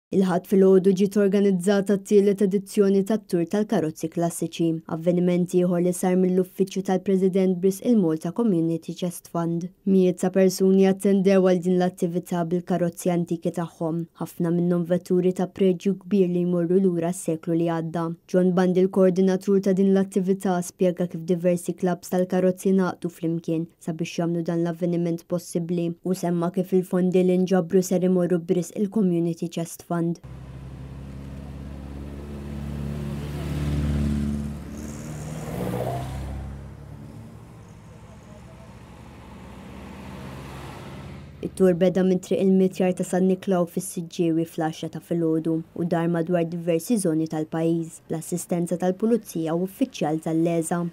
Il-Ħadd filgħodu ġiet organizzata t-tielet edizzjoni tat-Tour tal-Karozzi Klassiċi, avveniment ieħor li sar mill-Uffiċċju tal-President b'risq il-Malta Community Chest Fund. Mijiet ta' persuni attendew għal din l-attività bil-karozzi antiki tagħhom, ħafna minnhom vetturi ta' preġju kbir li jmorru lura s-seklu li għadda. John Bundy l-koordinatur ta' din l-attività spjega kif diversi klabbs tal-karozzi ngħaqdu flimkien sabiex jagħmlu dan l-avveniment possibbli. Hu semma kif il-fondi li nġabru ser imorru b'risq il-Community Chest Fund. It-tur beda minn Triq il-Mitjar ta' San Niklaw fis-Siġġiewi fl-għaxra ta' filgħodu u dar madwar diversi żoni tal-pajjiż, bl-assistenza tal-Pulizija u uffiċjal tal-LESA.